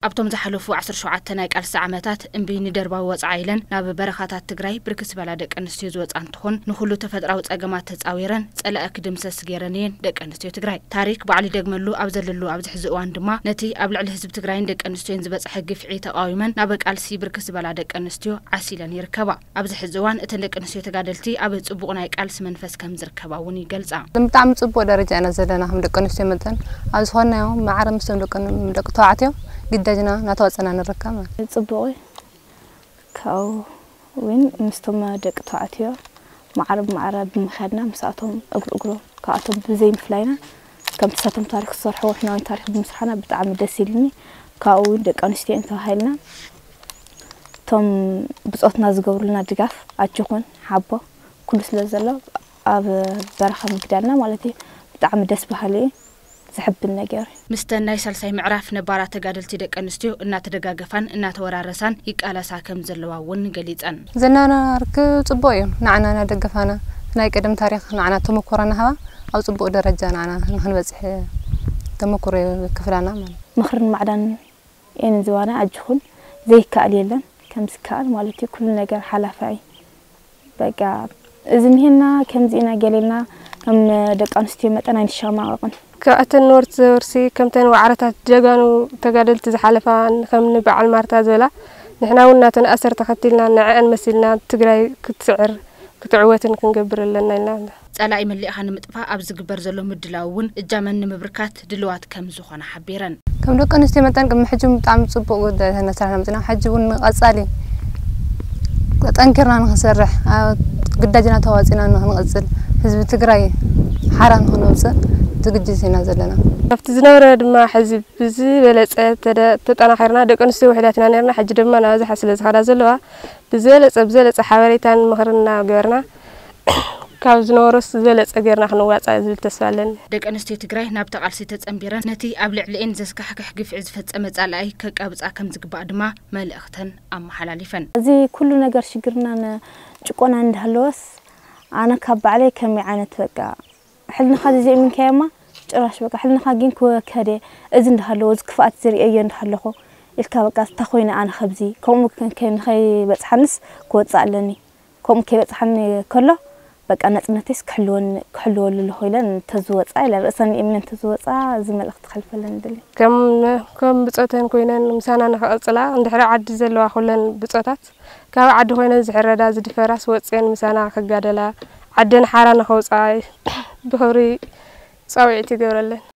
ኣብቶም ዝሓለፉ ዓሰርተ ሸውዓተ ናይ ቃልሲ ዓመታት እምቢ ንደርባዊ ወጽዓ ኢለን ናብ በረኻታት ትግራይ ብርክት ዝበላ ደቂ ኣንስትዮ ዝወጻ እንትኾን፣ ንኹሉ ተፈጥራዊ ጸገማት ተጻዊረን ጸላኢ ክድምሰስ ገይረን እየን ደቂ ኣንስትዮ ትግራይ። ታሪክ ባዕሉ ይደግመሉ ኣብ ዘለሉ ኣብዚ ሕዚ እዋን ድማ ነቲ ኣብ ልዕሊ ህዝቢ ትግራይን ደቂ ኣንስትዮን ዝበጽሐ ግፍዒ ተቓዊመን ናብ ቃልሲ ብርክት ዝበላ ደቂ ኣንስትዮ ዓሲለን ይርከባ። ኣብዚ ሕዚ እዋን እተን ደቂ ኣንስትዮ ተጋደልቲ ኣብ ጽቡቕ ናይ ቃልሲ መንፈስ ከም ዝርከባ እውን ይገልጻ። ብጣዕሚ ጽቡቕ ደረጃ ኢና ዘለና ከም ደቂ ኣንስትዮ መጠን። ኣብ ዝኾንናዮ ማዕረ ምስቶም ደቂ ደቂ ተባዕትዮ ግዳጅና እናተዋጸና ንርከብ ማለት እዩ። ጽቡቕ እዩ። ካብኡ እውን ምስቶም ደቂ ተባዕትዮ ማዕረ ብማዕረ ብምኻድና ምስኣቶም እግሪ እግሮም ካብኣቶም ብዘይምፍላይና ከምቲ ሳቶም ታሪክ ዝሰርሕዎ ንሕና እውን ታሪክ ብምስራሕና ብጣዕሚ ደስ ኢሉኒ። ካብኡ እውን ደቂ ኣንስትዮ ተባሂልና እቶም ብጾትና ዝገብሩልና ድጋፍ ኣጆኹን ሓቦ ኩሉ ስለ ዘሎ ኣብ በረኻ ምግዳልና ማለት እዩ ብጣዕሚ ደስ በሃሊ እዩ። ዘሕብን ነገር እዩ። ምስተን ናይ ሳልሳይ ምዕራፍ ነባራት ተጋደልቲ ደቂ ኣንስትዮ እናተደጋገፋን እናተወራረሳን ይቃለሳ ከም ዘለዋ እውን ገሊጸን። ዘለና ርክብ ጽቡቕ እዩ። ንዓና እናደገፋና ናይ ቀደም ታሪኽ ንዓና ተመኮሮ እናሃባ ኣብ ጽቡቕ ደረጃ ንዓና ንኽንበጽሕ ተመኩሮ ይክፍላና ማለት እዩ። ምኽርን ማዕዳን እየን ዝባና ኣጅኹን ዘይከኣል የለን ከም ዝከኣል ማለት እዩ። ኩሉ ነገር ሓላፋ እዩ። በቃ እዚ እንሄና ከምዚ ኢና ገሌልና ከም ደቂ ኣንስትዮ መጠን ኣይንሸማቐቕን። ካብኣተን ነበርቲ ዘወርሲ ከምተን ዋዕረታት ጀጋኑ ተጋደልቲ ዝሓለፋ ከም ንበዓል ማርታ ዝበላ ንሕና እውን ናተን ኣሰር ተኸቲልና ንዐአን መሲልና ትግራይ ክትስዕር ክትዕወትን ክንገብር ኣለና ኢልና። ጸላኢ መሊእኻ ንምጥፋእ ኣብ ዝግበር ዘሎ ምድላው እውን እጃመን ንምብርካት ድልዋት ከም ዝኾነ ሓቢረን። ከም ደቂ ኣንስትዮ መጠን ቅድሚ ሕጂ እውን ብጣዕሚ ጽቡቕ ጉዳይ ተነስራሕና መጺና። ሕጂ እውን ንቐጻሊ ጠንኪርና ንኽንሰርሕ፣ ኣብ ግዳጅና ተዋጺና ንኽንቕጽል፣ ህዝቢ ትግራይ ሓራ ንኽነውጽእ ዝግጅት ኢና ዘለና። ካብቲ ዝነበረ ድማ ሕዚ ብዝበለጸ ተደ-፣ ተጠናኺርና ደቂ ኣንስትዮ ውሕዳት ኢና ነርና። ሕጂ ድማ ናብዝሓ ስለ ዝኸዳ ዘለዋ ብዝበለጸ፣ ብዝበለጸ ሓበሬታን ምኽርን እናገበርና ካብ ዝነበሮስ ዝበለጸ ጌርና ክንዋጻእ ዝብል ተስፋ ኣለኒ። ደቂ ኣንስትዮ ትግራይ ናብቲ ቃልሲ ተጸንቢረን ነቲ ኣብ ልዕሊኤን ዘስካሕክሕ ግፍዒ ዝፈጸመ ጸላኢ ከቃብጻ ከም ዝግባእ ድማ መልእኽተን ኣመሓላሊፈን። እዚ ኩሉ ነገር ሽግርናን ጭቆናን እንዳሃለወስ ኣነ ካብ ባዕለይ ከመይ ዓይነት በቃ ሕልንኻ ዘየእምንካዮማ ጭራሽ በቃ ሕልንኻ ግን ክወከደ እዚ እንዳሃለዎ እዚ ክፍኣት ዝርእየዮ እንዳሃለኹ ኢልካ በቃ እንታይ ኮይነ ኣነ ከብዚ ከምኡ ከ-፣ ከ-፣ ንኸይበጽሓንስ ክወጽእ ኣለኒ። ከምኡ ከይበጽሓኒ ከሎ በቃ ነጽነተይስ ክሕልወኒ-፣ ክሕልወሉ ኣለኹ ኢለን እንተዝወጻ ኢለን ርእሰን የእምነን እንተዝወጻ እዚ መልእኽቲ ከሕልፈለን ይደሊ። ከም፣ ከም ብጾተን ኮይነን ምሳና ንኽቕጽላ እንድሕሪ ዓዲ ዘለዋ ኩለን ብጾታት ካብ ዓዲ ኮይነን ዝሕረዳ ዝድፈራስ ወጽየን ምሳና ክጋደላ ዓደን ሓራ ንኸውጽኣ ብኽብሪ ጻውዒት ይገብረለን።